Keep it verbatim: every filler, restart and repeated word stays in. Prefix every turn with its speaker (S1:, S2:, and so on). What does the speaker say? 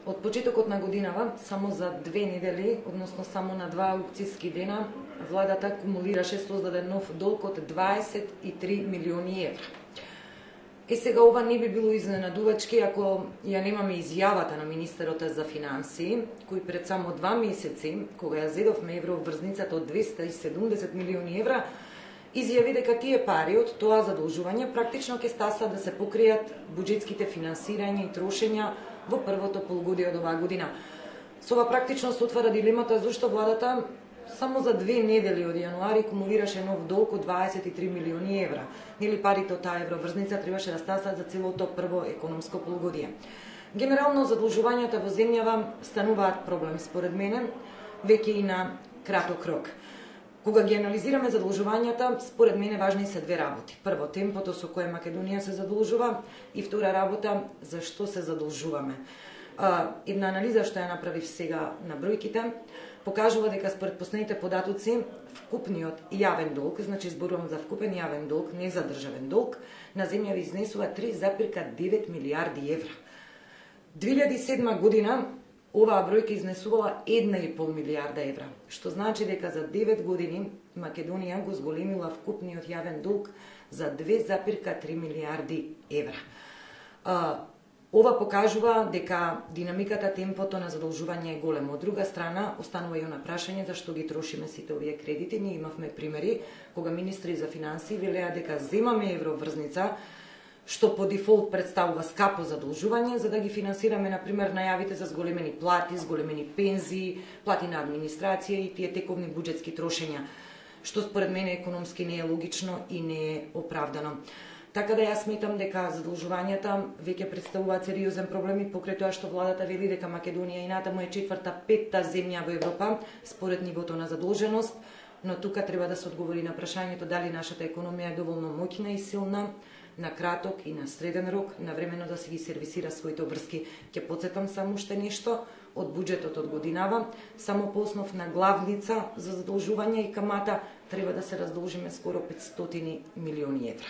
S1: Од почетокот на годинава, само за две недели, односно само на два аукцијски дена, владата кумулираше создаде нов долг од дваесет и три милиони евра. Е сега ова не би било изненадувачки ако ја немаме изјавата на министерот за финансии, кој пред само два месеци, кога ја зедовме евроврзницата од двесте и седумдесет милиони евра, изјави дека тие пари од тоа задолжување практично ќе стасат да се покријат буџетските финансирања и трошења во првото полугодие од оваа година. Со ова практично се отвара дилемата зашто владата само за две недели од јануари кумулираше нов долг од дваесет и три милиони евра. Нели парите од таа евроврзница требаше да стасат за целото прво економско полугодие. Генерално задолжувањата во земјава стануваат проблем според мене веќе и на краток рок. Кога ги анализираме задолжувањата, според мене важни се две работи. Прво, темпото со кое Македонија се задолжува и втора работа, зашто се задолжуваме. Една анализа што ја направив сега на бројките покажува дека според последните податоци вкупниот јавен долг, значи зборувам за вкупен јавен долг, не за државен долг, на земјава изнесува три запирка девет милијарди евра. две илјади и седма година оваа бројка изнесувала една и пол милијарда евра, што значи дека за девет години Македонија го зголемила вкупниот јавен долг за две запирка три милијарди евра. Ова покажува дека динамиката, темпото на задолжување е големо. Од друга страна, останува и она прашање зашто ги трошиме сите овие кредити. Ние имавме примери кога министри за финансии велеа дека земаме евроврзница, што по дефолт представува скапо задолжување, за да ги финансираме, например, најавите за зголемени плати, зголемени пензии, плати на администрација и тие тековни буџетски трошења, што според мене економски не е логично и не е оправдано. Така да јас сметам дека задолжувањата веќе представуваат сериозен проблем и покрај тоа што владата вели дека Македонија и натаму е четврта, петта земја во Европа според нивото на задолженост, но тука треба да се одговори на прашањето дали нашата економија е доволно моќна и силна на краток и на среден рок, навремено да се ги сервисира своите обврски. Ќе потсетам само уште нешто од буџетот од годинава, само по основ на главница за задолжување и камата треба да се раздолжиме скоро петстотини милиони евра.